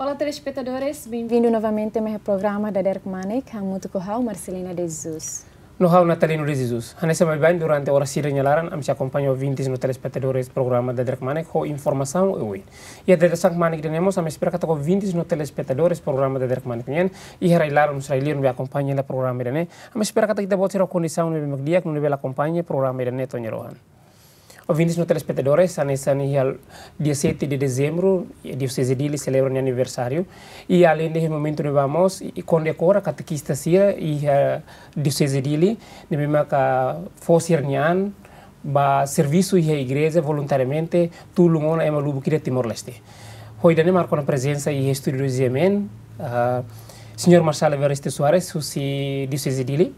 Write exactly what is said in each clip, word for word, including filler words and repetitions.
Olá, telespetadores, bem-vindo novamente ao programa Dader Kmanek, hamutuk ho ha'u, Marcelina de Jesus. No ha'u, Natalino de Jesus. Hanesan baibain, durante oras sira nia laran, ami sei akompaña ouvintes no telespetadores programa Dader Kmanek ho informasaun oioin. Iha dadeer-saan kmanek ida-ne'e mós, ami espera katak ouvintes no telespetadores programa Dader Kmanek nian, iha rai-laran, rai-li'ur, ne'ebé akompaña hela programa ida-ne'e, ami espera katak ita-boot sira kondisaun ne'ebé mak di'ak, ne'ebé bele akompaña programa ida-ne'e to'o nia rohan. Ouvintes no telespetadores, hanesan iha dia sete de dezembro, Dioseze Dili selebra nia aniversáriu. I aleinde iha momentu ne'ebá mós, i, i kondekora katekista sira iha Dioseze Dili, ne'ebé maka fó sira-nia an ba servisu iha igreja voluntariamente, tulun ona ema lubuk ida Timor-Leste. Ho ida-ne'e marka ona prezensa iha estúdiu do G M N, ah, señór Marçal Evaristo Soares, husi Dioseze Dili,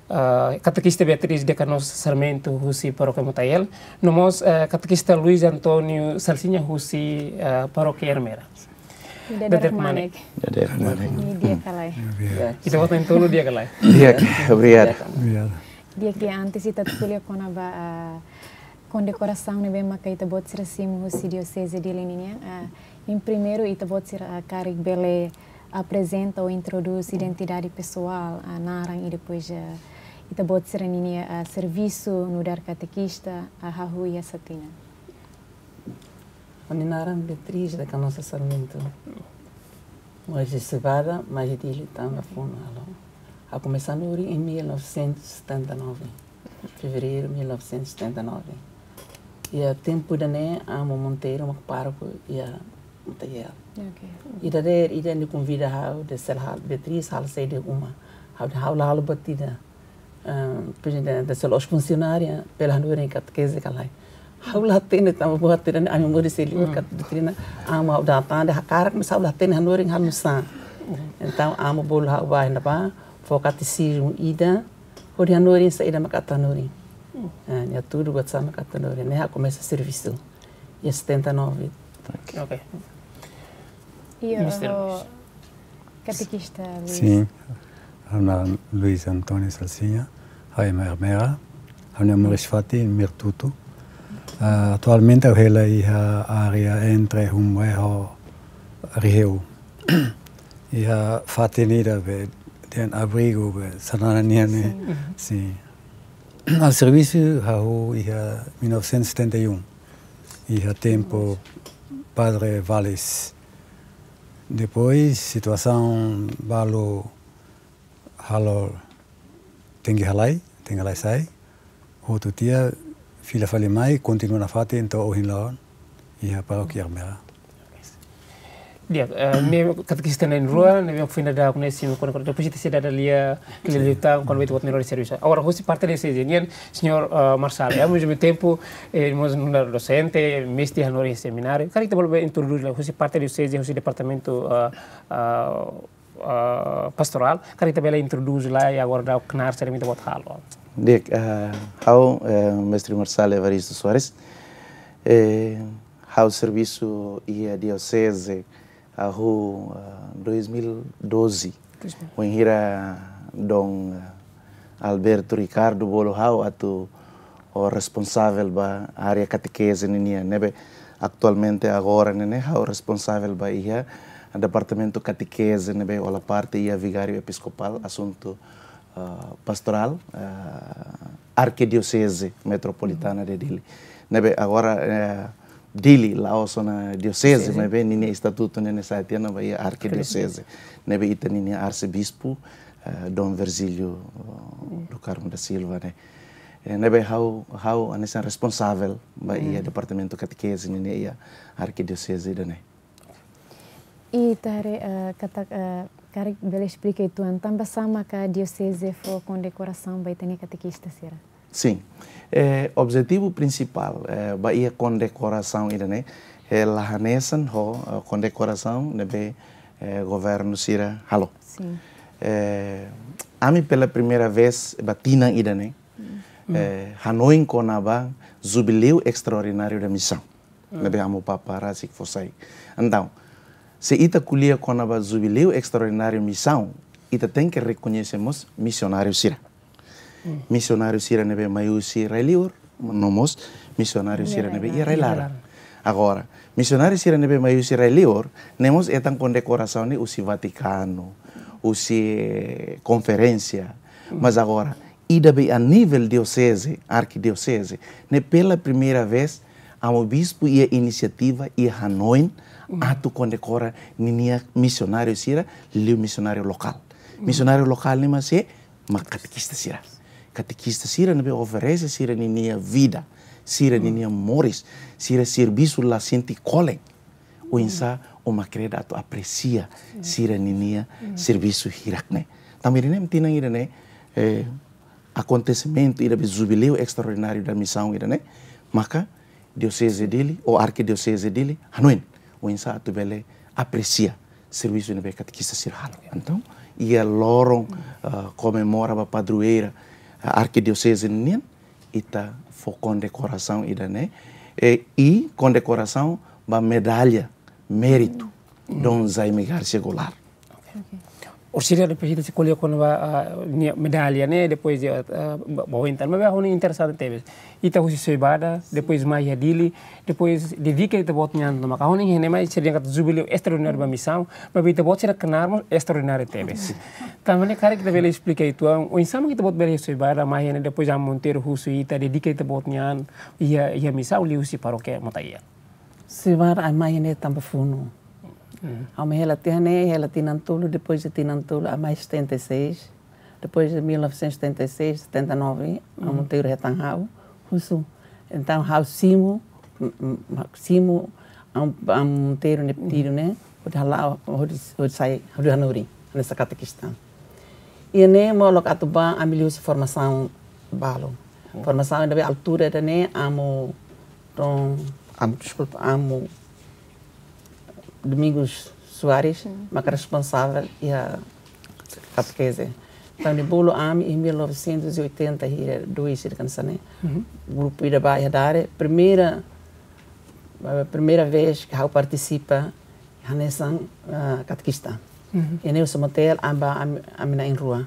ah, katekista Beatriz de Canossa Sarmento, husi Parókia Mutael, no mós, ah, katekista Luis António Salsinha, husi, ah, Parókia Ermera. Dader Kmanek. Dader Kmanek. Di'ak ka lae? Di'ak. Ita-boot na'in-tolu di'ak ka lae? Di'ak, obrigadu. Obrigadu. Di'ak, di'ak, antes ita atu ko'alia kona-ba, ah, kondekorasaun ne'ebé maka ita-boot sira simu husi Dioseze Dili nian, ah, em primeiru ita-boot sira, ah, karik bele aprezenta ou introdús identidade pesoál, ah, naran i depois, ah, ita-boot sira-nia, ah, servisu nu'udar katekista, ah, hahú iha sá tinan? Ha'u-nia naran Beatriz de Canossa Sarmento. Mós iha Cevada, mas iha Dili tanba funu halo. Ha'u komesa hanorin em mil novecentos e setenta e nove, fevereiro mil novecentos e setenta e nove. Iha tempu ida-ne'e, Amu Monteiro mak pároku iha Mutael. Ok. I dadeer ida nia konvida ha'u dehan sela halo, Beatriz, halo saida iha uma. Ha'u dehan ha'u la halo buat ida. Ah, prezidente, se la'ós funsionária, bele hanorin katekeze ka lae. Ha'u la hatene tanba buat ida-ne'e, ami moris iha li'ur, mm, katak doutrina, Amu, ha'u dala tan dehan hakarak, mas ha'u la hatene hanorin halo nu'usá. Entaun, Amu bolu ha'u bá iha ne'ebá, fó katesizmu ida, hodi hanorin saida mak atu hanorin. Ah, nia hatudu buat sá mak atu hanorin. Ne'e ha'u komesa servisu iha setenta e nove. Ok. Iha, Mister oh, Luis. Katekista Luis. Sin. Ha'u-nia naran Luis António Salsinha, ha'u ema Ermera, ha'u-nia moris fatin Mertutu. Ah, atualmente ha'u hela iha área entre Humboe ho Riheu. Iha fatin ida be, dehan abrigu be, Xanana nian ne'e. Sin. Sin. Ha'u servisu hahú iha mil novecentos e setenta e um. Iha tempu Padre Valles. Depois, situasaun balu halo tenke halai, tenke halai sai. Hotu tiha, fila fali mai, kontinua nafatin to'o ohin loron, iha Parókia Ermera. Di'ak, eh, ne'e katekista na'in-rua, ne'ebé foin dadauk ne'e simu kona-kona, depois ita sei dada lia, lia liután, kona-ba ita-boot nia rohan servisu. Agora, husi parte Dioseze nian, señór, eh, Marçal, ao mesmo tempo, eh, mós nu'udar dosente, mestre hanorin semináriu. Karik ita bele introdús lai, husi parte Dioseze, husi departamentu, eh, eh, eh, pastorál, karik ita bele introdús lai, i agora daudaun knaar saida mak ita-boot halo. Di'ak, eh, ha'u, eh, mestre Marçal Evaristo Soares, eh, ha'u servisu iha Dioseze, hahú, ah, dois mil e doze. Dois mil. Wainhira Dom, ah, Alberto Ricardo bolu ha'u atu, oh, responsavel ba área katekeze ninian, ne'ebé atualmente agora ne'e ne'e ha'u responsavel ba iha departamentu katekeze ne'ebé hola parte iha Vigáriu Episkopál, asuntu, ah, pastorál, ah, Arkidioseze Metropolitana de Dili. Ne'ebé agora, eh, Dili la'ós ona dioseze, dioseze, maibé ninia estatutu ne'e ne'e sa'e tiha ona ba iha arkidioseze. Arkidioseze. Ne'ebé ita ninia arsebispu, eh, Dom Virgílio, eh, do Carmo da Silva, ne'e. Eh, ne'ebé ha'u, ha'u hanesan responsavel ba iha departamentu katekeze ninia iha arkidioseze ida-ne'e. I ita haree, eh, katak, eh, karik bele esplika uitoan, tanba sá maka Dioseze fó kondekorasaun ba ita-nia katekista sira? Sin. Eh, objetivu prinsipál, eh, ba iha kondekorasaun ida-ne'e, eh, la hanesan ho, eh, kondekorasaun ne'ebé, eh, governu sira halo. Sin. Eh, ami pela primeira vez ba tinan ida-ne'e, eh, hanoin kona-ba Jubileu Extraordinário da Missão. Ne'ebé Amu Papa rasik fó sai. Entaun, se ita ko'alia kona-ba Jubileu Extraordinário Missão, ita tenke rekoñese mós misionáriu sira. Misionáriu sira ne'ebé mai husi rai-li'ur, no mós misionáriu sira ne'ebé iha rai-laran. Agora, misionáriu sira ne'ebé mai husi rai-liur, ne'e mós hetan kondekorasaun ne'e husi Vatikanu, husi, eh, konferénsia. Mas agora, ida be a nivel dioseze, arkidioseze, ne'e pela primeira vez, amu bispu iha inisiativa, iha hanoin, atu kondekora ninia misionáriu sira, liu misionáriu lokál. Misionáriu lokál ne'e mak sé, mak katekista sira. Katekista sira ne'ebé oferese sira ninia vida, sira ninia moris, sira servisu la sente kolen. Oinsá ó mak kere atu apresia sira ninia servisu hirak ne'e. Tanba ida-ne'e, tinan ida-ne'e, eh, akontesimentu ida be jubileu estraordináriu da misaun ida-ne'e, maka Dioseze Dili, ou Arkidioseze Dili, hanoin, oinsá atu bele apresia servisu ne'ebé katekista sira halo. Entaun, iha loron, ah, komemora ba padroeira, ah, Arkidioseze nian, ita fó kondekorasaun ida-ne'e, eh, i kondekorasaun ba medalla méritu, Dom Jaime Garcia Goulart. Orsida depois ita sei ko'alia kona-ba, ah, nia medalla ne'e, depois de, ah, ba, ba ointan. Mas ha'u hanoin interesante tebes. Ita husi Soibada, depois mai iha Dili, depois dedika ita-boot nian, no maka ha'u hanoin iha ne'e mai sira dehan katak jubileu estraordináriu ba misaun, maibé ita-boot sira knaar mós estraordináriu tebes. Tanba ne'e karik ita bele esplika uitoan, oinsá mak ita-boot bele iha Soibada, mai iha ne'e depois Amu Monteiro husu ita, dedika ita-boot nian, iha, iha misaun liuhusi parókia Mota-Ian. Soibada ami mai iha ne'e tanba funu. Ha'u mai hela tiha ne'e, hela tinan tolu, depois de tinan tolu, ami mai setenta e seis. Depois de mil novecentos e setenta e seis, setenta e nove, Amu Monteiro hetan ha'u, husu. Entaun, ha'u simu, m-, m-, simu, Amu, Amu Monteiro nia pedidu ne'e, hodi hala'o, hodi, hodi sai, hodi hanorin, hanesan katekista. Iha ne'e molok atu bá, ami liuhusi formasaun balu. Formasaun ida be altura ida-ne'e, Amu, Dom, Amu, deskulpa, Amu Domingos Soares, maka responsavel iha katekeze. Entaun, nia bolu ami iha mil novecentos e oitenta e dois, sira kan sane. Grupu ida ba iha Dare, primeira, eh, primeira vez ke ha'u partisipa hanesan, ah, katekista. Iha ne'e husi motel, ami ba, ami, ami na'in-rua.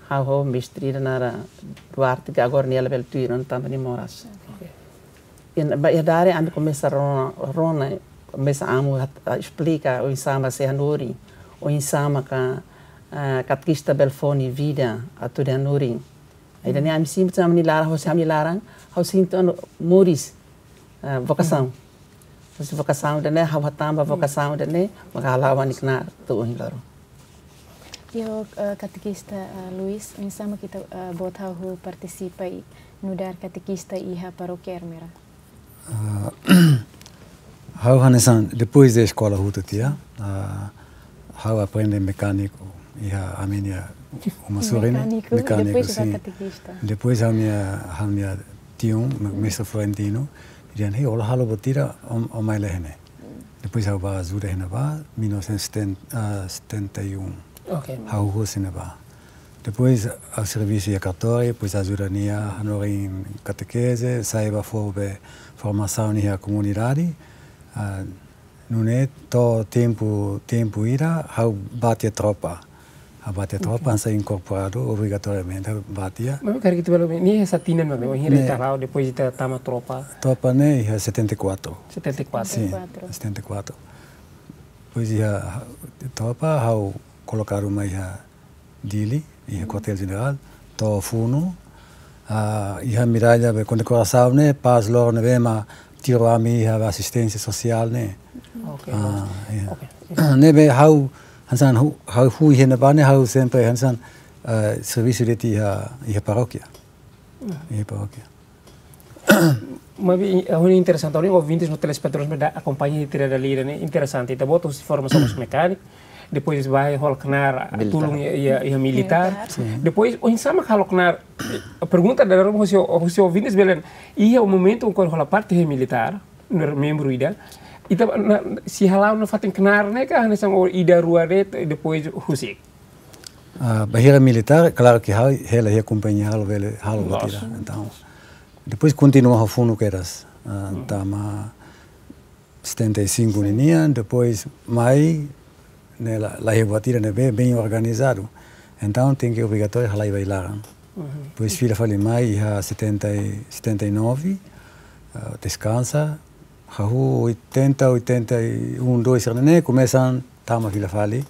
Ha'u ho mestre ida naran Duarte, ke agora nia labele tuir ona tanba nia moras. Iha, ba iha Dare ami komesa rona, rona, komesa Amu hat-, ah, esplika oinsá mak sei hanorin, oinsá maka, ah, katekista bele fó nia vida atu hanorin. Ida-ne'e ami sente tanba nia laran, hosi ami laran, ha'u sente ona moris, ah, vokasaun. Hosi vokasaun ida-ne'e, ha'u hatán ba vokasaun ida-ne'e, maka hala'o ami knaar to'o ohin loron. Iha, eh, katekista, eh, Luis, oinsá mak ita, eh, boot hahú partisipa i nu'udar katekista iha parókia Ermera? Ah, ha'u hanesan, depois de eskola hotu tiha, ah, ha'u aprende mekániku, iha ami-nia uma sorin, Mekániku, mecânico, depois sim. Katekista. Depois ha'u-nia, ha'u-nia tiu, me-, mestre Florentino, dehan, "Hei, ó la halo buat ida, ó, ó mai lai iha ne'e." Depois ha'u ba ajuda iha ne'ebá, mil novecentos e setenta, ah, setenta e um. Ok. Ha'u husi ne'ebá. Depois ha'u servisu iha kartóriu, depois ajuda nia hanorin katekeze, sai ba fó be formasaun iha komunidade. Ah, nune'e to'o tempu, tempu ida, ha'u bá tiha tropa. Ha'u bá tiha tropa, hanesan inkorporadu, obrigatoriamente ha'u bá tiha. Maibé karik ita bele, ne'e iha sá tinan, maibé, ohin Ne'e. ita halo, depois ita tama tropa. Tropa ne'e iha setenta e quatro. Setenta e quatro. Sim, Setenta e quatro. setenta e quatro. Depois iha tropa, ha'u kolokadu mai iha Dili, iha Kuartél Jenerál, to'o funu, ah, iha medalla be kondekorasaun ne'e, pas loron ne'ebé mak tiru ami iha asisténsia sosiál ne'e. Ok. Ah, iha. Ok. Ne'ebé ha'u, hanesan ha'u, ha'u hu iha ne'ebá ne'e, ha'u sempre hanesan, eh, servisu de'it iha, iha parókia. Iha parókia. Maibé, eh, ha'u hanoin interesante, ha'u hanoin ouvintes no telespetadores ne'ebé akompaña ita-nia ida-ne'e interesante. Ita-boot husi formasaun mós mekániku, depois bá hola knaar, Militár. tulun iha, iha, iha militár. Militár. Sim. Depois, oinsá mak halo knaar, eh, pergunta dadaun husi, husi ouvintes belen, iha momentu ohin hola parte iha militár, nu'udar membru ida. Ita, na, sei hala'o nafatin knaar ne'e ka, hanesan ó ida rua de'it, depois husik? Ah, bainhira militár, klaru ke ha'u hela iha kompañia halo bele, halo Loos. buat ida. Entaun, depois kontinua ha'u funu kedas. Ah, tama setenta e cinco ninian, depois mai, ne'e la, la iha buat ida ne'ebé bem organizadu. Entaun, tenke obrigatóriu halai ba laran. Depois fila fali mai iha setenta e, setenta e nove, ah, deskansa, Hahú oitenta, oitenta e um, dois sira-ne'e komesa tama fila fali.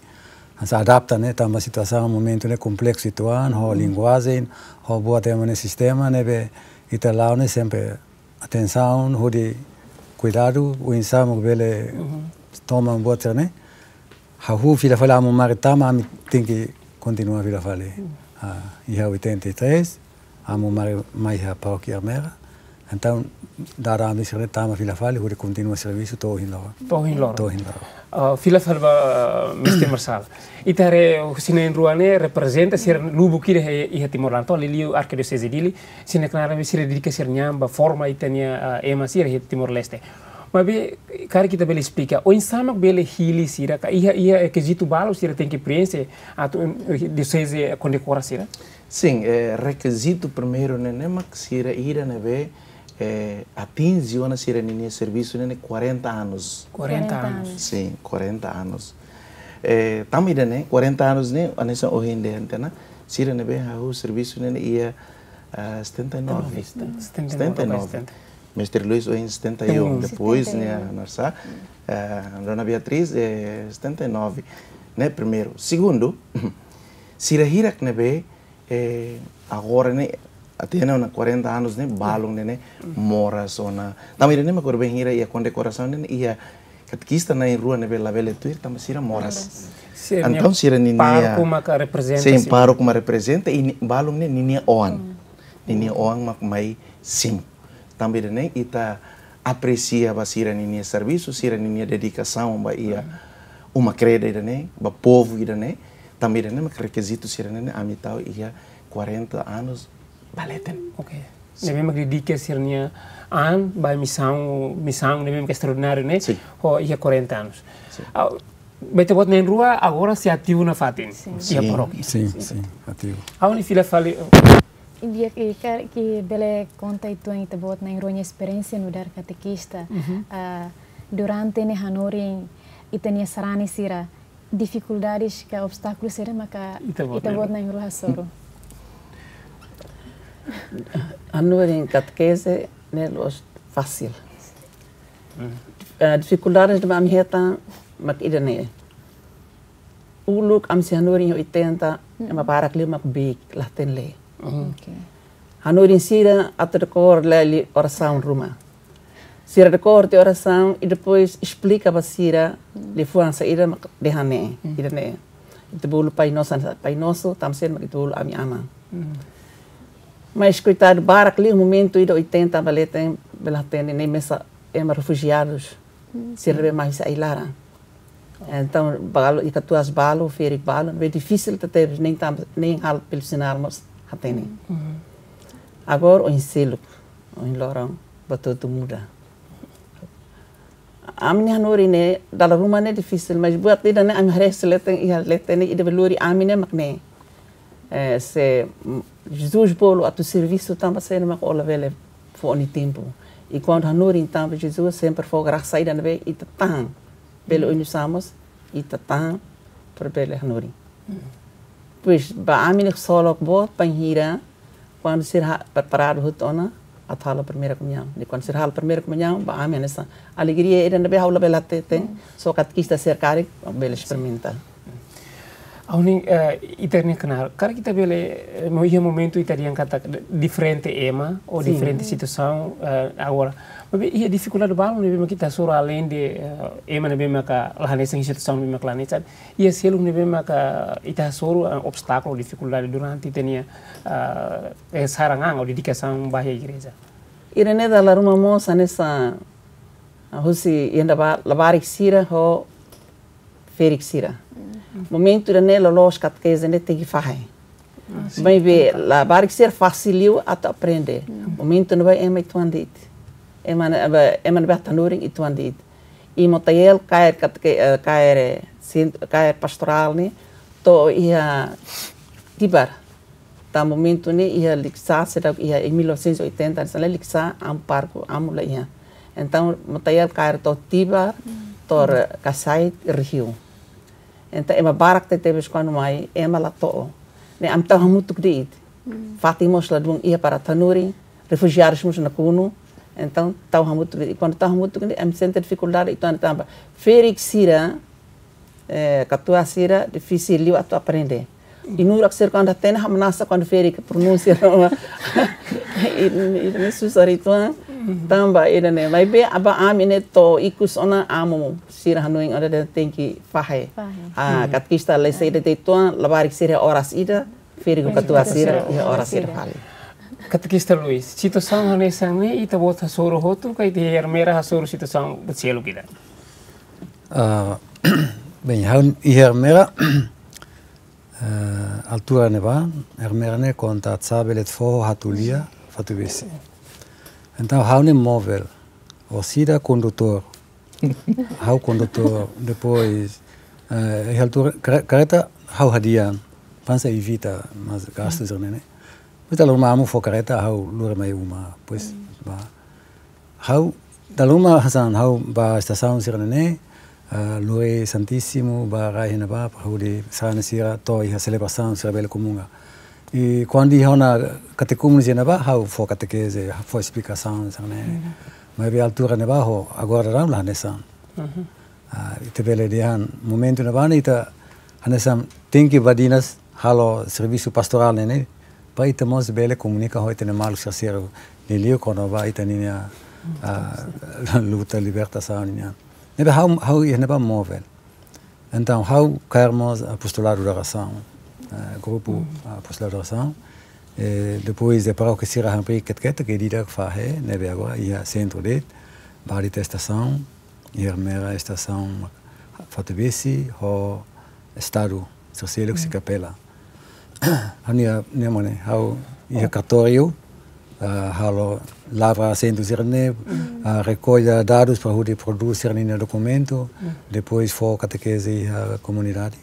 Hanesan adapta ne'e, tanba situasaun momentu ne'e kompleksu uitoan, ho linguajen, ho buat ema nia sistema ne'ebé ita la'o ne'e sempre atensaun, hodi kuidadu, oinsá mak bele toma buat sira-ne'e. Hahú fila fali, amu mari tama, ami tenke kontinua fila fali. Ah, iha oitenta e três, amu mari mai iha Parókia Ermera. Entaun, dada ami sira-ne'e tama fila fali, hodi kontinua servisu to'o ohin loron. To'o ohin loron. To'o ohin loron. Ah, fila fali ba, ah, Mestre Marçal. Ita haree husi na'in-rua ne'e reprezenta sira lubuk ida iha, iha Timor laran, to'o liuliu Arkidioseze Dili, sira-nia knaar ne'ebé sira dedika sira-nia an ba forma ita-nia, ah, ema sira iha Timor-Leste. Maibé, karik ita bele esplika, oinsá mak bele hili sira ka iha, iha, eh, rekizitu balu sira tenke prienxe atu, eh, dioseze kondekora sira? Sin, eh, rekizitu primeiru ne'e, ne'e mak sira ida ne'ebé, eh, atinje ona sira ninia servisu ne'e, ne'e quarenta anos. Quarenta anos. Sin, quarenta anos. Eh, tanba ida-ne'e, quarenta anos ne'e, hanesan ohin dehan tiha ona, sira ne'ebé hahú servisu ne'e, ne'e iha, ah, setenta e nove. Setenta e nove. Setenta e nove. Mestre Luis ohin setenta e um, depois, setenta e um, ne'e, Narsa, eh, Dona Beatriz, eh, setenta e nove, ne'e primeiru. Segundu, sira hirak ne'ebé, eh, agora ne'e, até ona quarenta anos ne'e, balun ne'e, ne'e moras ona. Tanba ida-ne'e mak agora bainhira iha kondekorasaun ne'e, iha katekista na'in-rua ne'ebé labele tuir, tanba sira moras. Moras. Entaun sira ninia pároku maka reprezenta, sin, pároku mak reprezenta, i ni-, balun ne'e ninia oan. Ninia oan mak mai simu. Tanba ida-ne'e ita apresia ba sira ninia servisu, sira ninia dedikasaun ba iha uma kreda ida-ne'e, ba povu ida-ne'e. Tanba ida-ne'e mak rekizitu sira-ne'e, ne'e ami tau iha quarenta anos ba leten. Ok. Sin. Ne'ebé mak dedika sira-nia an ba misaun, misaun ne'ebé mak estraordináriu ne'e, sin, ho iha quarenta anos. Sin. Ah, ba ita-boot na'in-rua agora sei ativu nafatin. Sin. Iha, sin, parókia. Sin, sin, ativu. Ha'u-nia fila fali. Di'ak, i karik bele konta uitoan ita-boot na'in-rua nia esperiénsia nu'udar katekista. Mhm. Ah, durante ne'e hanorin ita-nia sarani sira, difikuldades ka obstákulu sira maka ita-boot, ita-boot na'in-rua, na'in-rua hasoru? Hanorin katekeze ne'e la'ós fasil. Hmm. Eh, difikuldades ne'ebé ami hetan mak ida-ne'e. Uluk ami sei hanorin oitenta, hmm, ema barak liu mak beik, la hatene lee. Hmm. Ok. Hanorin sira atu dekór lee liu orasaun ruma. Sira dekór tiha orasaun i depois esplika ba sira, hmm, liafuan saida mak dehan ne'e, hmm, ida-ne'e. Ita bolu Pai Nosso, Pai Nosso, tanba sira mak ita bolu Ami Aman. Hmm. Mas koitadu, barak liu momentu ida oitenta ba leten, bele hatene ne'e mesak ema refujiadus. Hmm. Sira ne'ebé mai husi ai-laran. Entaun, balu, i katuas balu, ferik balu, ne'ebé difisil tebetebes, nein tanba, nein halo pelu sinál mós hatene. Mhm. Agora, oin seluk, oin loron, buat hotu muda. Ami-nia hanorin ne'e, dala ruma ne'e difisil, mas buat ida-ne'e ami haree husi leten, iha leten ne'e, ida be lori ami ne'e mak ne'e. Eh, se, mm, Jesus bolu atu servisu tanba saida mak ó labele fó ó-nia tempu. I kuandu hanorin tanba Jesus sempre fó grasa ida ne'ebé ita tahan. Bele, mm, oinsá mós ita tahan para bele hanorin. Mm. Pois, ba ami ne'e ksolok boot bainhira kuandu sira preparadu hotu ona atu halo primeira komuñaun. I kuandu sira halo primeira komuñaun, ba ami hanesan alegria ida ne'ebé ha'u labele hateten, mm, só katekista sira karik bele, sin, esperimenta. Ha'u-nia, eh, ita-nia knaar, karik ita bele, eh, mo-, iha momentu ita dehan katak diferente ema, ou, sin, diferente situasaun, eh, agora. Maibé iha difikuldade balu ne'ebé mak ita hasoru aleinde, eh, ema ne'ebé maka la hanesan, situasaun ne'ebé maka la hanesan. Iha seluk ne'ebé maka ita hasoru, eh, obstákulu, difikuldade durante ita-nia, eh, eh, sarani ou dedikasaun ba iha igreja. Ida-ne'e dala ruma mós hanesan, ah, husi ida ba labarik sira ho ferik sira. Mm. Momentu ida-ne'e loloos katekeze ne'e tenke fahe. Ah, sin. Maibé labarik sira fasil liu atu aprende. Mm. Momentu ne'ebá ema uitoan de'it. Ema ne'e, ema, ema ne'ebé atu hanorin uitoan de'it. I Motael kaer kateke-, eh, kaer, eh, sin-, kaer pastorál ne'e to'o iha Tibar. Tanba momentu ne'e iha Likisá, seidauk iha, em mil novecentos e oitenta, hanesan ne'e Likisá, amu pároku, amu la iha. Entaun, Motael kaer to'o Tibar, mm, to'o, mm, Kasait, Rihiu. Entaun, ema barak tebetebes kuandu mai, ema la to'o. Ne'e ami tau hamutuk de'it. Mm. Fatin mós ladún iha para atu hanorin, refujiadus mós nakonu, Entaun, tau hamutuk, i kuandu tau hamutuk ne'e, ami sente difikuldade uitoan tanba ferik sira, eh, katuas sira, difisil liu atu aprende. I nurak sira kuandu hatene, hamnasa kuandu ferik pronunsia. I, i, i susar uitoan, tanba ida-ne'e. Maibé, ba ami ne'e to'o ikus ona amu sira hanoin ida-ne'e tenke fahe. Fahe. Ah, katekista lei saida de'it uitoan, labarik sira oras ida, ferik ho katuas sira, iha oras ida fali. Katekista Luis, situasaun hanesan ne'e, ita-boot hasoru hotu, ka ita iha Ermera hasoru situasaun buat seluk ida? Ah, bem, ha'u iha Ermera, eh, altura ne'ebá, Ermera ne'e konta Atsabe, Letfoho, Hatulia, Fatubesi. Entaun, ha'u ne'e móvel, orsida kondutór. Ha'u kondutór, depois, eh, iha altura, kare-, kareta ha'u hadi'a, para evita mós gastu sira-ne'e. Depois dala ruma amu fó kareta ha'u lori mai uma, depois ba. Ha'u dala ruma hanesan ha'u ba estasaun sira-ne'e, eh, lori Santíssimo, ba rai iha ne'ebá, para hodi sarani sira to'o iha selebrasaun sira bele komunga. I kuandu iha ona katekúmenos iha ne'ebá, ha'u fó katekeze, fó esplikasaun sira-ne'e. Maibé altura ne'ebá ho agora daudaun la hanesan. Ah, ita bele dehan momentu ne'ebá ne'e ita hanesan tenke badinas halo servisu pastorál ne'e, ne'e, para ita mós bele komunika ho ita-nia maluk sira seluk, liuliu kona-ba ita-nia, ah, luta libertasaun nian. Ne'ebé ha'u, ha'u iha ne'ebá móvel. Entaun, ha'u kaer mós apostoladu da orasaun, eh, grupu apostoladu da orasaun. Eh, depois de parókia sira hampir ketak-ketak, ke di'ak fahe, ne'ebé agora iha sentru de'it, ba ita estasaun, iha Ermera estasaun, Fatubesi, ho estadu, sosial, kapela. Ha'u-nia, nia mane, ha'u iha kartóriu, ah, halo lavra asentu sira-ne'e, ah, rekolla dadus para hodi prodús sira-nia dokumentu, depois fó katekeze iha komunidade,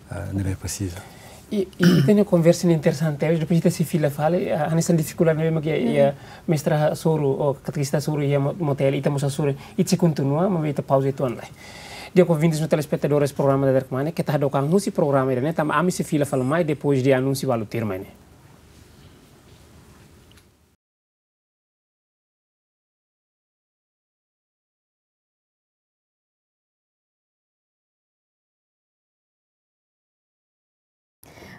ah, ne'ebé presiza. I, i, ita-nia konversa ne'e interesante, depois ita sei fila fali, ah, hanesan difikuldade ne'ebé mak iha, iha mestra hasoru, ou katekista hasoru iha mo-, motel, ita mós hasoru, ita sei kontinua, maibé ita pauza uitoan lai. Di'ak ouvintes no telespetadores programa Dader Kmanek, keta hadook an husi programa ida-ne'e, tanba ami sei fila fali mai depois de anúnsiu balu tuirmai ne'e.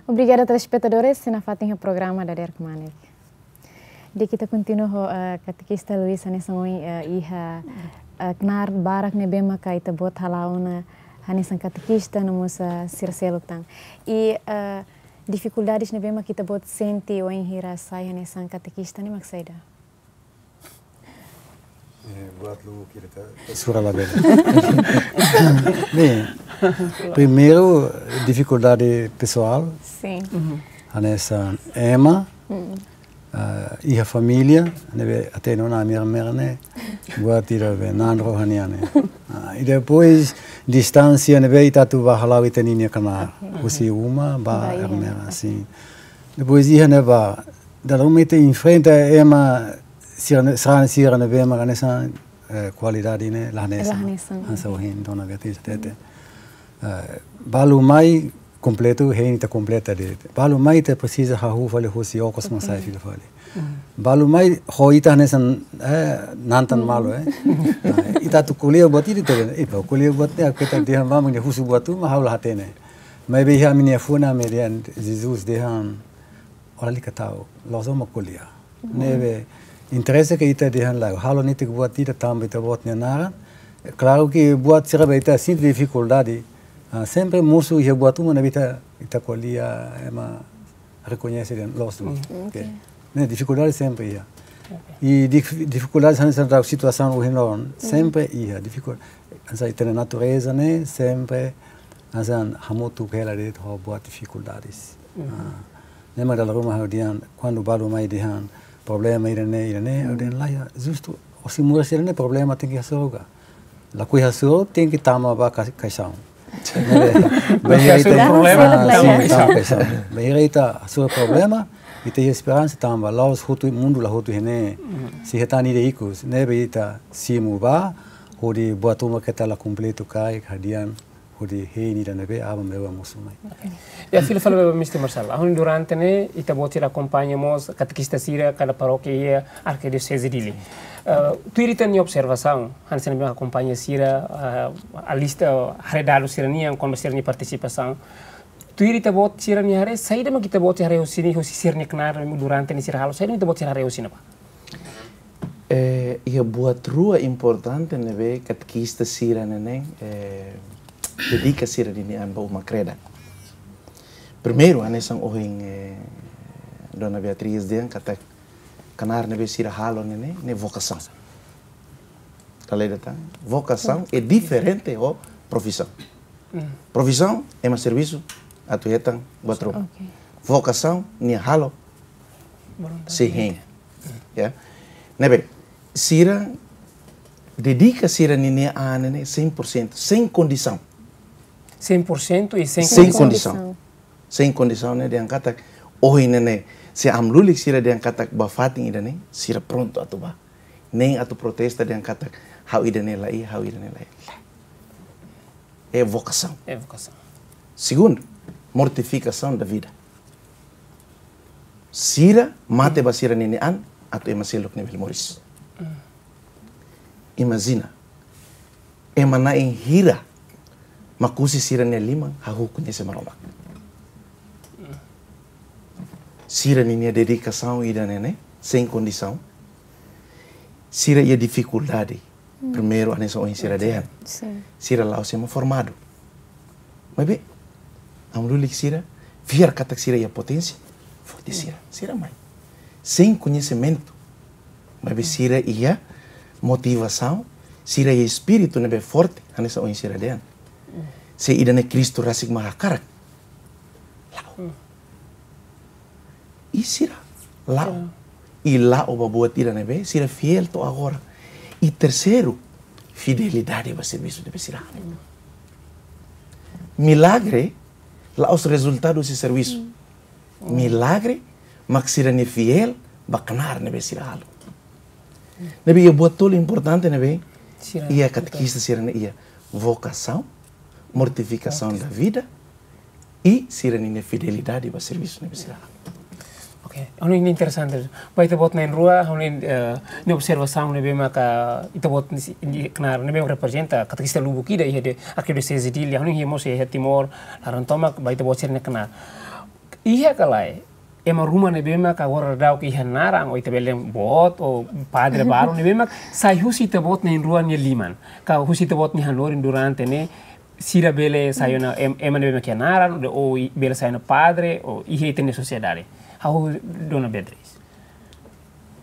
Obrigada, telespetadores, sei nafatin iha programa Dader Kmanek. Di'ak, ita kontinua ho, eh, katekista Luis hanesan ohin, eh, iha, eh, knaar barak ne'ebé maka ita-boot hala'o ona hanesan katekista no mós, eh, sira seluk tan. I, eh, difikuldades ne'ebé maka ita-boot sente wainhira sai hanesan katekista ne'e mak saida? Eh, buat lu kira ta, ta sura la bele. Bem, primeiru, difikuldade pesoál. Sin. Hanesan ema, ah, iha família, ne'ebé até no na minha mera ne'e, buat ida be nan rohanian ne'e. Ah, i depois, distánsia ne'ebé ita atu ba hala'o ita-nia knaar, husi uma ba Ba iha. Ermera, sin. Depois iha ne'ebá, dala ruma ita enfrenta ema sira ne-, sarani sira ne'ebé mak hanesan, eh, kualidade ne'e la hanesan. La hanesan. Hanesan ohin dona Beatriz hatete. Eh, balu mai kompletu, hein ita kompleta de'it. Balu mai ita presiza hahú fali husi okos mak sai fila fali. Balu mai ho ita hanesan, eh, nantan malu, eh. Ah, ita atu ko'alia buat ida, ita, ita ko'alia buat ne'e, ita dehan ba mak nia husu buat uma, ha'u la hatene. Maibé iha ami-nia fuan, ami dehan, Jesus dehan, ó lalika ta'uk, la'ós ó mak ko'alia. Ne'ebé interese ke ita dehan lae, halo netik buat ida tanba ita-boot nia naran. Klaru ke buat sira be ita sente difikuldade. Ah, sempre mosu iha buat uma ne'ebé ita, ita ko'alia, ema rekoñese dehan loos duni. Mm. Oke. Oke. Ne'e difikuldade sempre iha. Oke. I dif-, difikuldade hanesan situasaun ohin loron, sempre iha. Difikul-, hanesan ita-nia natureza ne'e sempre hanesan hamutuk hela de'it ho buat difikuldades. Mhm. Ah, ne'e mak dala ruma ha'u dehan, kuandu balu mai dehan problema ida-ne'e, ida-ne'e, ha'u dehan lae, justu, ó sei moris ida-ne'e problema tenke hasoru ka. Lakohi hasoru, tenke tama ba ka-, kaixaun. Ne'e, bainhira ita, problema, ah, tama sin, kaixaun. Tama kaixaun. Bainhira ita hasoru problema, ita iha esperansa tanba la'ós hotu, mundu la hotu iha ne'e. Mhm. Sei hetan ida ikus, ne'ebé ita simu ba, hodi buat uma ke ita la kompletu karik, hadi'a hodi hein ida ne'ebé aban-bainrua mosu mai. Oke. Ya, fila fali ba Mister Marcelo. Ha'u hanoin durante ne'e, ita-boot sira akompaña mós katekista sira kada parókia iha Arkidioseze Dili. Eh, tuir ita-nia observasaun, hanesan ne'ebé akompaña sira, eh, alista, haree dadus sira-nian, kona-ba sira-nia partisipasaun. Tuir ita-boot sira-nia haree, saida mak ita-boot sira haree husi ne'e, husi sira-nia knaar durante ne'e sira halo, saida mak ita-boot sira haree husi ne'ebá? Eh, iha buat rua importante ne'ebé katekista sira-ne'e, eh, dedika sira-nia an ba uma-kreda. Primeiru, hanesan ohin, eh, Dona Beatriz dehan katak knaar ne'ebé sira halo ne'e, ne'e vokasaun. Dala ida tan, vokasaun é diferente ho profisaun. Mm. Profisaun ema servisu atu hetan buat ruma. Oke. Vokasaun nia halo Voluntariamente. Sei hein. Ya. Ne'ebé, sira dedika sira-nia an ne'e cem por cento, sein kondisaun. Cem por cento e sem Sem condição. Condição. Sem condição, ne'e dehan katak, ohin ne'e, se amu lulik sira dehan katak ba fatin ida-ne'e, sira prontu atu bá. Nein atu protesta dehan katak, ha'u ida-ne'e la iha, ha'u ida-ne'e la iha. É vocação. É vocação. Segundo, mortificação da vida. Sira mate ba sira-nia an, atu ema seluk ne'e bele moris. Imajina, ema na'in hira mak husi sira-nia liman hahú koñese Maromak. Sira-nia dedikasaun ida-ne'e, sem condição. Sira iha difikuldade. Primeiru, hanesan ohin sira dehan. Sin. Sira la'ós ema formadu. Maibé, amu lulik sira, fiar katak sira iha poténsia, forte sira, sira mai. Sein koñesimentu, maibé sira iha motivasaun, sira iha espíritu ne'ebé forte, hanesan ohin sira dehan. Se ida-ne'e Kristu rasik mak hakarak. La'o. I sira la'o. Sira. I la'o ba buat ida ne'ebé, sira fiél to'o agora. I terseiru, fidelidade ba servisu ne'ebé sira halo. Milagre la'ós rezultadu husi servisu. Milagre mak sira-nia fiél ba knaar ne'ebé sira halo. Ne'ebé iha buat tolu importante ne'ebé, sira iha katekista sira-ne'e iha vokasaun, mortifikasaun da vida, i sira-nia fidelidade ba servisu ne'ebé sira halo. Oke, ha'u hanoin interesante. Ba ita-boot na'in-rua, ha'u hanoin, eh, nia observasaun ne'ebé maka ita-boot nia knaar ne'ebé reprezenta katekista lubuk ida iha Arkidioseze Dili, ha'u hanoin iha mós iha Timor laran tomak, ba ita-boot sira-nia knaar. Iha ka lae, ema ruma ne'ebé maka agora daudaun iha naran, ou ita bele dehan boot, ou padre balu ne'ebé maka sai husi ita-boot na'in-rua nia liman. Ka husi ita-boot nia hanorin durante ne'e, sira bele sai ona em-, ema ne'ebé maka iha naran, ou, ou i-, bele sai ona padre, ou iha ita-nia sosiedade. Ha'u Dona Beatriz.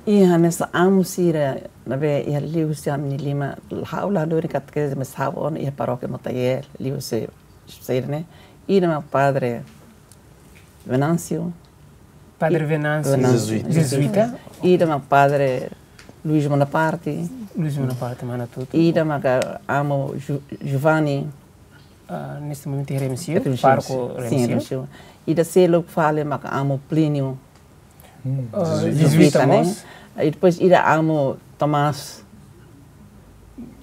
Iha hanesan amu sira ne'ebé iha liuhusi ami-nia liman, ha'u la dori katekista, mas ha'u ona iha parókia Motael, liuhusi sira-ne'e. Ida mak Padre Venâncio. Padre Venâncio. Venâncio. Jesuíta. Jesuíta. Ida mak Padre Luís Bonaparte. Luís Bonaparte, Manatuto. Ida mak amu Ju-, Giovanni. Ah, neste momento é Remexio, Remexio, pároco sin. Sin, Remexio. Remexio. Ida seluk fali mak amu Plínio. Hmm. Ah, Jesuíta, Jesuíta, ne'e? Mós? I depois ida amu Tomás,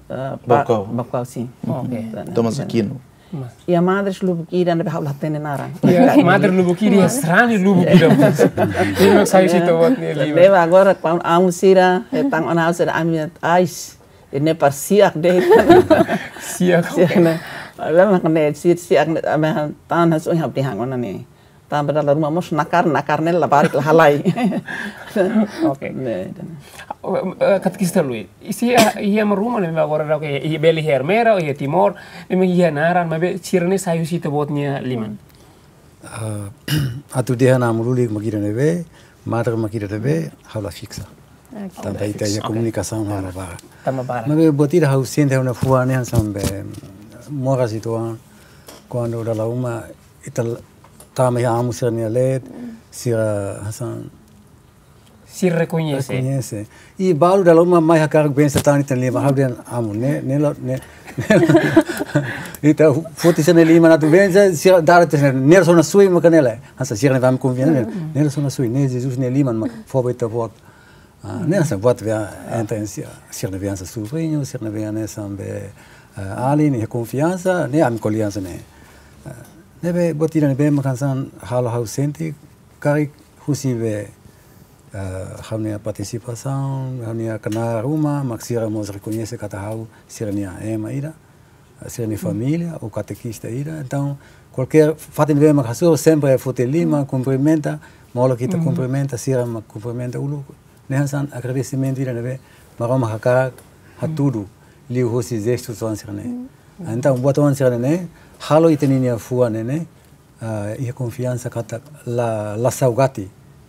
ah, Pa-, Baucau. Baucau, sin. Oke. Tomás Aquino. Mas. Iha madre lubuk ida ne'ebé ha'u la hatene naran. Iha madre lubuk ida, sarani lubuk ida. Ida mak sai husi ita-boot nia liman. Leba agora, kuandu amu sira, eh, tan ona sira ami ais. Ne'e para siak de'it. Siak. Siak ne'e. Lama kene siak, siak ne'e, ami tan hanesan ohin ha'u dehan ona ne'e. Tanba dala ruma mós nakar, nakar ne'e labarik la halai. Oke. Ne'e. Eh, eh, katekista Luis. Isi, ah, iha ema ruma ne'e agora daudaun iha, iha bele iha Ermera, iha Timor, ne'e iha naran, maibé sira-ne'e sai husi ita-boot nia liman. Ah, atu dehan amu lulik mak ida ne'ebé, madre mak ida ne'ebé, ha'u la fiksa. Oke. Tanba ita iha komunikasaun ha'u la barak. Tama barak. Maibé buat ida ha'u sente ha'u-nia fuan ne'e hanesan be moras uitoan, kuandu dala ruma ita tama iha amu sira-nia leet, sira hanesan sira rekoñese. Rekoñese. I balu dala ruma mai hakarak bensa tan ita-nia liman, ha'u dehan amu, ne'e, ne'e la, ne'e, ne'e la. Ita foti sira-nia liman atu bensa, sira dala tes ne'e, ne'e la sona sui maka ne'e la. Hanesan sira ne'ebé ami konvida ne'e, ne'e la sona sui, ne'e Jesus nia liman mak fó ba ita-boot. Ah, ne'e hanesan buat be entre sira, sira ne'ebé hanesan subriñu, sira ne'ebé hanesan be Ah, alin iha konfiansa, ne'e ami ko'alia hanesan ne'e. Ah, ne'ebé buat ida ne'ebé mak hanesan halo ha'u sente karik husi be, ah, ha'u-nia partisipasaun, ha'u-nia knaar ruma, mak sira mós rekoñese katak ha'u sira-nia ema ida, ah, sira-nia família, ou katekista ida. Entaun, kualkér fatin ne'ebé mak hasoru, sempre foti liman, kumprimenta, molok ita kumprimenta, sira mak kumprimenta uluk. Ne'e hanesan agradesimentu ida ne'ebé Maromak hakarak hatudu liuhusi jestu oan sira-ne'e. Entaun, buat oan sira-ne'e halo ita-nia fuan ne'e, ah, iha konfiansa katak la, la saugati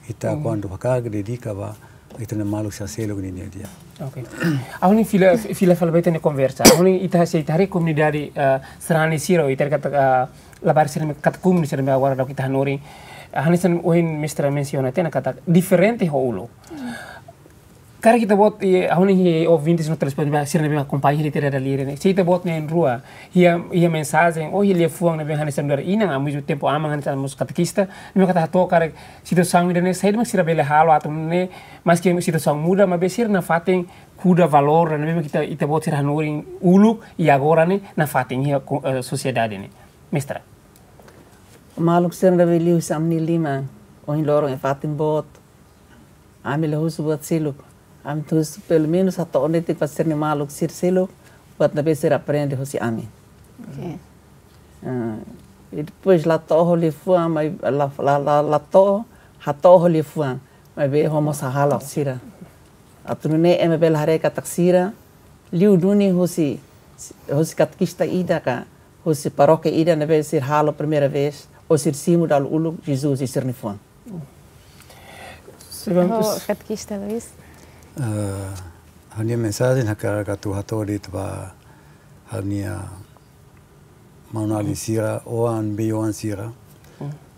ita kuandu hakarak dedika ba ita-nia maluk sira seluk ninia di'ak. Oke. Ha'u-nia fila, fila fali ba ita-nia konversa. Ha'u-nia ita sei haree komunidade, ah, sarani sira, ita katak, ah, labarik sira-ne'e katak komunidade sira-ne'e agora daudaun ita hanorin. Ah, hanesan ohin mestre mensiona tiha ona katak diferente ho uluk. Karik ita-boot, eh, ha'u-nia ouvintes no telespetadór sira ne'ebé akompaña ita dala ida ne'e. Se ita-boot na'in-rua iha, iha mensajen, ou iha liafuan ne'ebé hanesan nu'udar inan, ao mesmo tempo aman hanesan mós katekista, ne'ebé katak hato'o karik situasaun ida-ne'e, saida mak sira bele halo atu nune'e, maski situasaun muda, maibé sira nafatin kuda valór ne'ebé mak ita, ita-boot sira hanorin uluk, i agora ne'e, nafatin iha ko-, eh, sosiedade ne'e. Mestra. Maluk sira ne'ebé liuhusi ami-nia liman, ohin loron iha fatin boot, ami la husu buat seluk. Ami husu pelumenus hato'o netik ba sira-nia maluk sira seluk, buat ne'ebé sira aprende husi ami. Oke. Ah, i depois la to'o ho liafuan, mai la, la, la, la to'o, hato'o ho liafuan, maibé ho mós hahalok sira. Atu nune'e ema bele haree katak sira, liu duni husi, husi katekista ida ka, husi parókia ida ne'ebé sira halo primeira vez, ou sira simu dala uluk Jesus iha sira-nia fuan. Sebenarnya Oh, katekista Luis. Ah, ha'u-nia mensajen hakarak atu hato'o de'it ba ha'u-nia maun-alin sira, oan, bei-oan sira.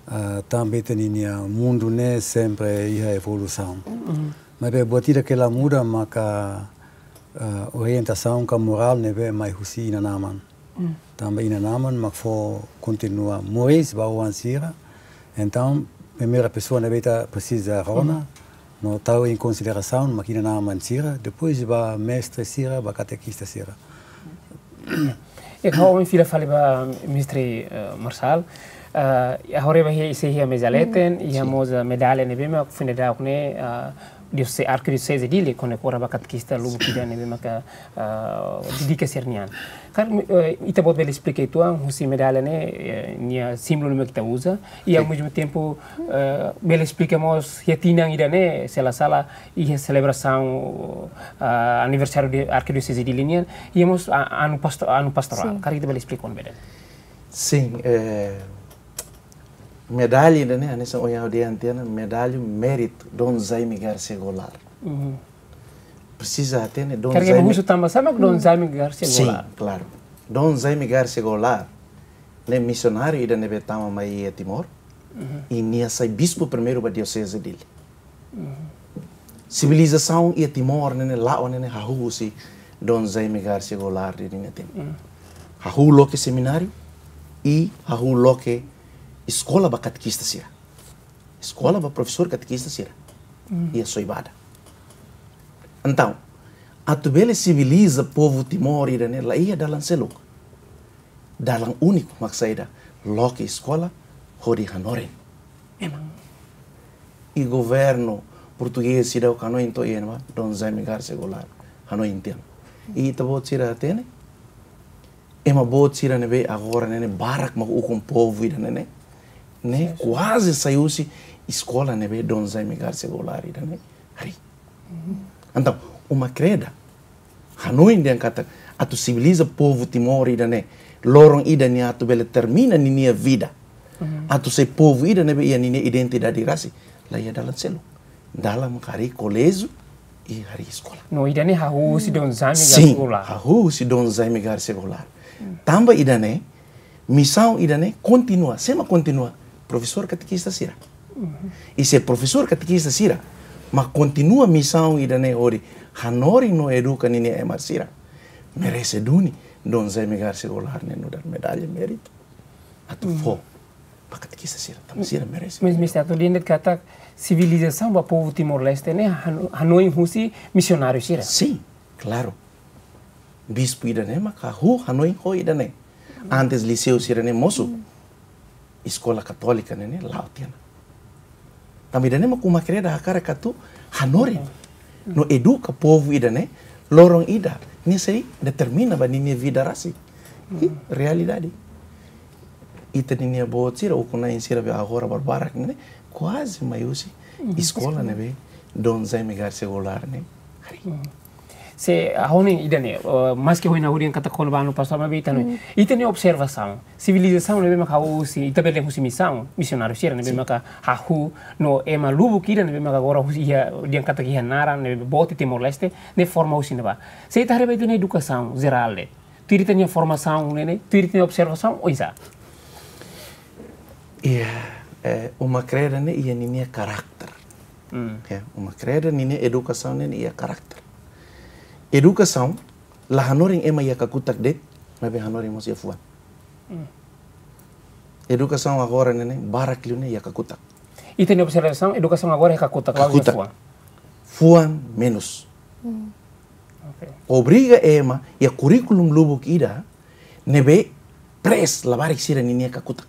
Ah, tanba ita-nia mundu ne'e sempre iha evolusaun. Maibé buat ida ke la muda maka, ah, orientasaun ka morál ne'ebé mai husi inan-aman. Tanba inan-aman mak fó kontinua moris ba oan sira. Entaun, primeira pesoa ne'ebé ita presiza rona, no tau em konsiderasaun mak inan-aman sira, depois ba mestre sira, ba katekista sira. I ha'u fila fali ba mestre, eh, Marçal. Eh, agora ba iha, sei iha meza leten, iha mós, eh, medalla ne'ebé mak foin dadauk ne'e, eh, diose-, Arkidioseze Dili, kona-ba katekista lubuk ida ne'ebé maka, eh, dedika sira-nian. Karik, eh, ita-boot bele esplika uitoan, husi medalla ne'e, eh, nia símbolu ne'ebé mak ita uza, i ao mesmo tempo, eh, bele esplika mós iha tinan ida-ne'e, se la sala, iha selebrasaun, ah, aniversáriu Arkidioseze Dili nian, iha mós a-, anu pasto-, anu pastorál. Sin. Karik ita bele esplika uitoan ba ida-ne'e? Sin, eh, medalla ida-ne'e, hanesan ohin ha'u dehan tiha ona, medalla méritu Dom Jaime Garcia Goulart. Presiza hatene, Dom Jaime. Karik ema husu tanba sá mak Dom Jaime Garcia Goulart? Sin, klaru. Dom Jaime Garcia Goulart ne'e misionáriu ida ne'ebé tama mai iha Timor, i nia sai bispu primeiru ba Dioseze Dili. Sivilizasaun iha Timor ne'e, ne'e la'o ne'e, ne'e hahú husi Dom Jaime Garcia Goulart ninia tempu. Hahú loke semináriu, i hahú loke eskola ba katekista sira. Eskola ba profesór katekista sira. Iha Soibada. Entaun, atu bele siviliza povu Timor ida-ne'e la iha dalan seluk. Dalan úniku mak saida, loke eskola hodi hanorin. Memang. I governu portugés seidauk hanoin to'o iha ne'ebá, Dom Jaime Garcia Goulart hanoin tiha ona. I ita-boot sira hatene, ema boot sira ne'ebé agora ne'e, ne'e barak mak ukun povu ida-ne'e, ne'e, ne'e kuaze sai husi eskola ne'ebé Dom Jaime Garcia Goulart ida-ne'e harii. Entaun, uma kreda, hanoin dehan katak atu siviliza povu Timor ida-ne'e, loron ida nia atu bele termina ninia vida. Atu sai povu ida ne'ebé iha ninia identidade rasik, la iha dalan seluk. Dalan mak harii koléjiu i harii eskola. No ida-ne'e hahú husi Dom Jaime Garcia Goulart. Sin, hahú husi Dom Jaime Garcia Goulart. Tanba ida-ne'e, misaun ida-ne'e kontinua, sé mak kontinua? Profesór katekista sira. I se profesór katekista sira mak kontinua misaun ida-ne'e hodi hanorin no eduka ninia ema sira, merese duni Dom Jaime Garcia Goulart ne'e nu'udar medalla méritu atu fó ba katekista sira, tanba sira merese. Mas, mestre, atu dehan de'it katak sivilizasaun ba povu Timor-Leste ne'e hano-, hanoin husi misionáriu sira? Sin, klaru. Bispu ida-ne'e maka hahú hanoin ho ida-ne'e. Antes liseu sira-ne'e mosu, eskola katólika ne'e ne'e la'o tiha ona. Tanba ida-ne'e mak Uma Kreda hakarak atu hanorin no eduka povu ida-ne'e, loron ida nia sei determina ba ninia vida rasik. I realidade. Ita-ninia boot sira, ukun-na'in sira be agora barbarak ne'e, kuaze mai husi eskola ne'ebé Dom Jaime Garcia Goulart ne'e harii. Se ha'u hanoin ida-ne'e, eh, maski ha'u hanoin katak kona-ba anu pastor, maibé ita-nia, ita-nia observasaun, sivilizasaun ne'ebé maka husi, ita bele husi misaun, misionáriu sira ne'ebé maka hahú no ema lubuk ida ne'ebé maka agora husi iha, dehan katak iha naran ne'ebé boot iha Timor-Leste, ne'e forma husi ne'ebá. Se ita haree ba ita-nia edukasaun jerál de'it, tuir ita-nia formasaun ne'e ne'e, tuir ita-nia observasaun, oinsá? Iha, eh, Uma Kreda ne'e iha ninia karakter. Hmm. Ya, Uma Kreda ninia edukasaun ne'e iha karakter. Edukasaun la hanorin ema iha kakutak de'it, maibé hanorin mós iha fuan. Hmm. Edukasaun agora ne'e ne'e barak liu ne'e iha kakutak. Ita-nia observasaun, edukasaun agora iha kakutak, la'ós iha fuan. Kakutak. Fuan menus. Hmm. Oke. Obriga ema iha kurríkulu lubuk ida ne'ebé press labarik sira ninia kakutak.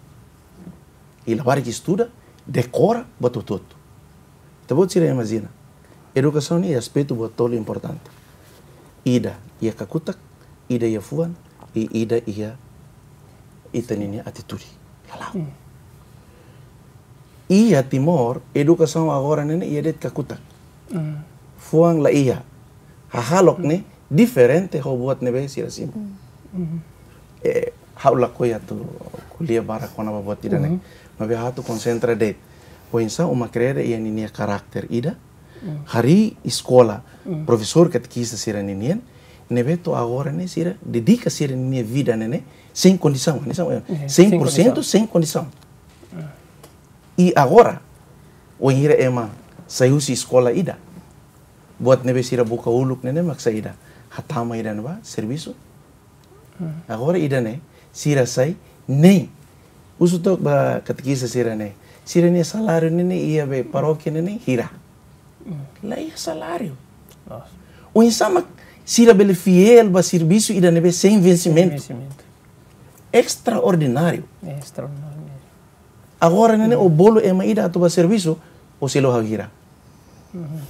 I labarik estuda, dekora, buat hotu-hotu. Ita-boot sira imajina. Edukasaun iha aspetu buat tolu importante. Ida iha kakutak, ida iha fuan, i ida iha ita ninia atitude. Hala'o. Hmm. Iha Timor, edukasaun agora ne'e ne'e iha de'it kakutak. Hmm. Fuan la iha. Hahalok ne'e diferente ho buat ne'ebé sira simu. Hmm. Eh, ha'u lakohi atu ko'alia barak kona-ba buat ida-ne'e. Hmm. Maibé ha'u atu konsentra de'it. Oinsá Uma Kreda iha ninia karakter ida. Hmm. Harii eskola, hmm, profesór katekista sira ninian, ne'ebé to'o agora ne'e sira dedika sira ninia vida ne'e ne'e, sein kondisaun, kondisaun, eh, iya, sein por sentu, sein kondisaun. Sein kondisaun. Hmm. I agora, wainhira ema sai husi eskola ida, buat ne'ebé sira buka uluk ne'e ne'e mak saida? Hatama ida-ne'ebá servisu. Hmm. Agora ida-ne'e, sira sai nein. Husu took ba katekista sira-ne'e. Sira-nia saláriu ne'e ne'e iha be parókia ne'e ne'e hira? Hmm. La iha saláriu. Loos. Oinsá mak sira bele fiél ba servisu ida ne'ebé sein vensimentu? Sein vensimentu. Estraordináriu. Estraordináriu. Agora ne'e ne'e, hmm, ó bolu ema ida atu bá servisu, ó selu ha'u hira? Mhm.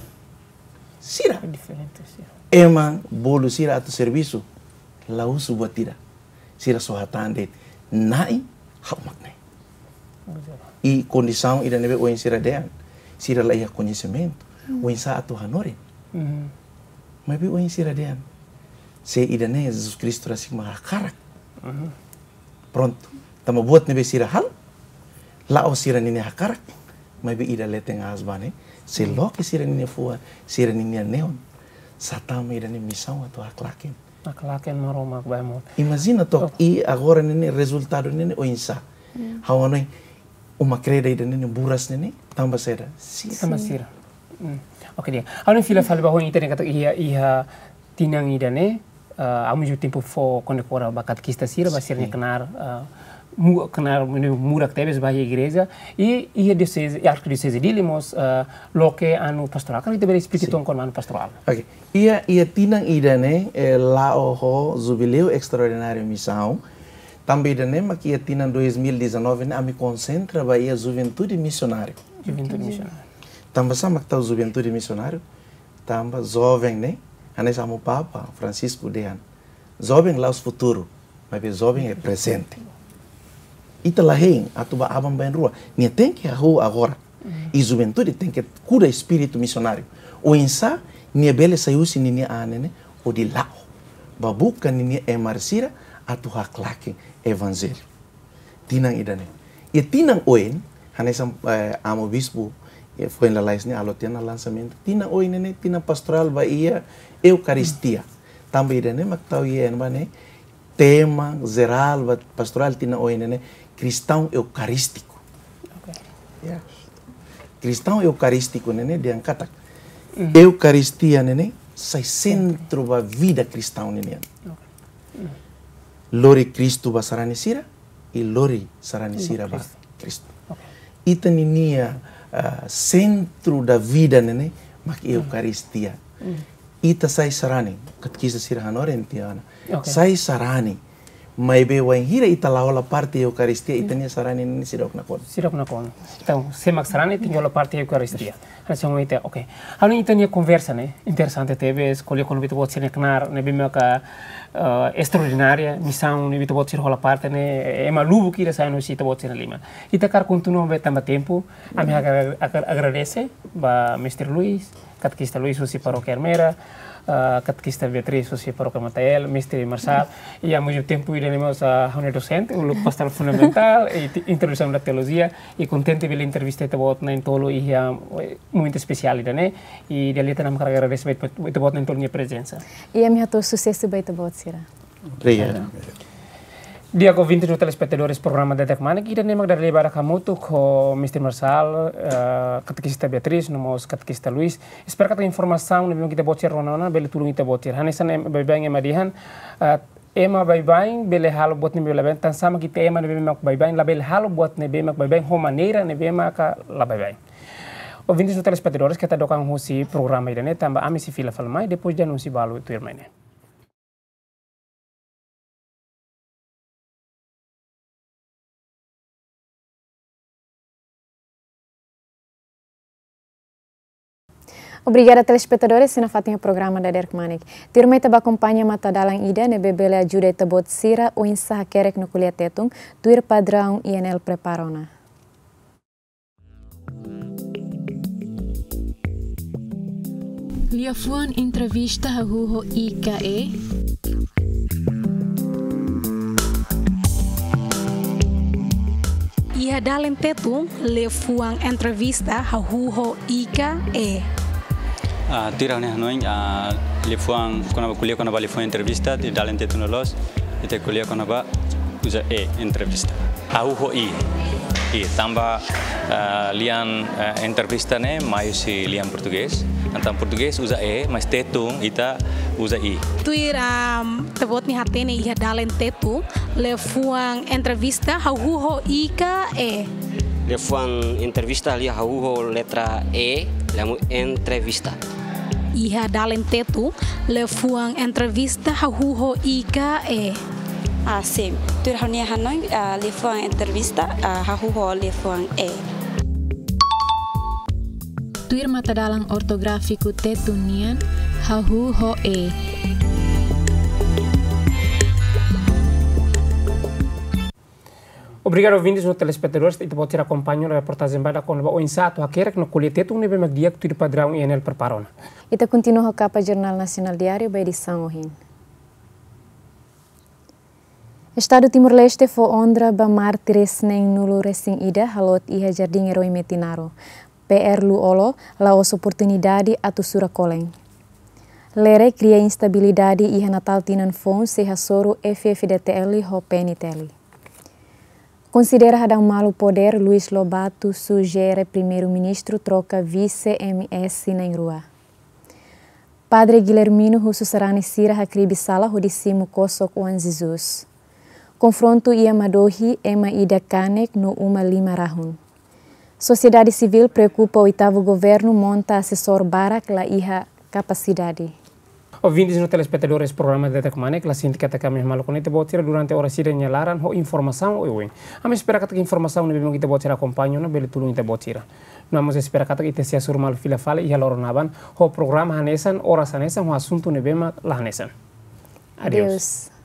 Sira. Diferente, sira. Ema bolu sira atu servisu, la husu buat ida. Sira só hatán de'it, Na'i, ha'u mak ne'e. Betul. I kondisaun ida ne'ebé ohin sira dehan, sira la iha koñesimentu, hmm, oinsá atu hanorin. Mhm. Maibé ohin sira dehan, se ida-ne'e Jesus Kristu rasik mak hakarak. Mhm. Prontu. Tanba buat ne'ebé sira halo, la'ós sira ninia hakarak, maibé ida leten aas ba ne'e, sei, hmm, loke sira ninia fuan, sira ninia neon. Sá tama ida-ne'e misaun atu haklaken. Haklaken Maromak ba ema hotu. Imajina took, oh, i agora ne'e ne'e rezultadu ne'e ne'e oinsá. Hmm. Ha'u hanoin Uma Kreda ida-ne'e ne'e buras ne'e ne'e, tanba saida? Sira. Tanba sira. Hmm. Oke, di'ak. Ha'u hanoin fila fali ba ohin ita dehan katak iha, iha tinan ida-ne'e, eh, ao mesmo tempo fó kondekora ba katekista sira, ba sira-nia, sin, knaar, eh, mu-, knaar mu-, murak tebes ba iha igreja, i, iha dioseze, i arkidioseze Dili mós, eh, loke anu pastorál. Karik ita bele esplika, sin, uitoan kona-ba anu pastorál? Oke. Iha, iha tinan ida-ne'e, eh, la'o ho jubileu estraordináriu misaun, tanba ida-ne'e mak iha tinan dois mil e dezanove ne'e ami konsentra ba iha juventude misionáriu. Juventude misionáriu. Tanba sá mak tau juventude misionáriu? Tanba joven ne'e, hanesan Amu Papa Francisco dehan, joven la'ós futuru, maibé joven é prezente. Ita la hein atu bá aban-bainrua. Nia tenke hahú agora. I juventude tenke kuda espíritu misionáriu. Oinsá nia bele sai husi ninia an ne'e ne'e hodi la'o bá buka ninia emar sira atu haklaken evanjellu. Tinan ida-ne'e. I tinan oin, hanesan, eh, Amu Bispu, eh, foin lalais ne'e halo tiha ona lansamentu. Tinan oin ne'e ne'e tinan pastorál ba iha Eukaristia. Tanba ida-ne'e mak tau iha ne'ebá ne'e tema jerál ba pastorál tinan oin ne'e ne'e Kristaun Eukarístiku. Oke. Ya. Kristaun Eukarístiku ne'e ne'e dehan katak, mhm, Eukaristia ne'e ne'e sai sentru ba vida kristaun ne'e nian. Oke. Mhm. Lori Kristu ba sarani sira, i lori sarani sira ba Kristu. Kristu. Oke. Ita ninia, ah, centro da vida ne'e ne'e mak, hmm, Eukaristia. Hmm. Ita sai sarani, katekista sira hanorin tiha ona. Oke. Sai sarani. Maibé wainhira ita la hola parte Eukaristia, ita-nia sarani ne'e seidauk nakonu. Seidauk nakonu. Entaun, sé mak sarani tenke hola parte Eukaristia. Hanesan ita, oke. Ha'u hanoin ita-nia konversa ne'e interesante tebes, ko'alia kona-ba ita-boot sira-nia knaar ne'ebé maka, eh, estraordinária, misaun ne'ebé ita-boot sira hola parte ne'e, ema lubuk ida sai husi ita-boot sira-nia liman. Ita hakarak kontinua maibé tanba tempu, ami hakarak agra-, agradese ba Mestre Luis, Katekista Luis husi Parókia Ermera, ah, Katekista Beatriz husi Parókia Matael, Mestre Marçal, i ao mesmo tempo ida-ne'e mós, ah, ha'u-nia dosente, uluk Pastoral Fundamentál, i ti-, introdusaun ba teolojia, i kontente bele entrevista ita-boot na'in-tolu iha, eh, momentu espesiál ida-ne'e, i di'ak liután ami hakarak agradese ba ita-boot na'in-tolu nia prezensa. I ami hato'o susesu ba ita-boot sira. Obrigadu. Di'ak, ouvintes no telespetadores programa Dadeer-Kmanek, ida-ne'e mak dada barak hamutuk ho Mestre Marçal, eh, Katekista Beatriz, no mós Katekista Luis. Espera katak informasaun ne'ebé mak ita-boot sira rona ona bele tulun ita-boot sira. Hanesan ema baibain ema dehan, eh, ema baibain bele halo buat ne'ebé labele, tansá mak ita ema ne'ebé mak baibain labele halo buat ne'ebé mak baibain ho maneira ne'ebé maka la baibain. Ouvintes no telespetadores, keta dook an husi programa ida-ne'e, tanba ami sei fila fali mai, depois de anúnsiu balu tuirmai ne'e. Obrigada, telespetadores, sira nafatin iha programa Dadeer-Kmanek. Tuirmai ita bá akompaña matadalan ida ne'ebé bele ajuda ita-boot sira oinsá hakerek no ko'alia Tetun, tuir padraun I N L prepara ona. Liafuan entrevista hahú ho I ka E. Iha dalen Tetun, liafuan entrevista hahú ho I ka E. Ah, tuir ha'u-nia hanoin, ah, liafuan kona-ba, ko'alia kona-ba liafuan entrevista, iha dalen Tetun loloos, ita ko'alia kona-ba uza E, entrevista. Hahú ho I. I, tanba, ah, lian, ah, entrevista ne'e mai husi lian portugés. Entaun portugés uza E, mas Tetun ita uza I. Tuir, ah, ita-boot nia hatene iha dalen Tetun, liafuan entrevista hahú ho I ka E. Liafuan entrevista lian hahú ho letra E, liafuan entrevista. Iha dalen Tetun, liafuan entrevista hahú ho I ka E. Ah, sin. Tuir ha'u-nia hanoin, ah, liafuan entrevista, ah, hahú ho liafuan E. Tuir matadalan ortográfiku Tetun nian, hahú ho E. Obrigadu, ouvintes no telespetadores, ita-boot sira akompaña ona reportajen badak kona-ba oinsá atu hakerek no ko'alia Tetun ne'ebé mak di'ak tuir padraun I N L prepara ona. Ita kontinua ho kapa Jornál Nasionál Diáriu ba edisaun ohin. Estadu Timor-Leste fó onra ba mártires neen-nulu resin ida haloot iha Jardín Eroi Metinaro. P R Lu Olo la'ós oportunidade atu sura kolen. Lerek kria instabilidade iha Natal tinan foun sei hasoru F F D T L ho P N T L. Konsidera hadau malu podér, Luís Lobato sujere Primeiru-Ministru troka vise M S na'in-rua. Padre Guilhermino husu sarani sira hakribi sala hodi simu kosok oan Jesus. Konfrontu iha Madohi, ema ida kanek no uma lima rahun. Sosiedade sivíl preokupa oitavu governu monta asesór barak la iha kapasidade. Ouvintes no telespetadores programa Dadeer-Kmanek, la sente katak ami hamaluk ona ita-boot sira durante oras ida nia laran ho informasaun oioin. Ami espera katak informasaun ne'ebé mak ita-boot sira akompaña ona bele tulun ita-boot sira. No ami mós espera katak ita sei hasoru malu fila fali iha loron aban ho programa hanesan, oras hanesan, ho asuntu ne'ebé mak la hanesan. Adeus. Adeus.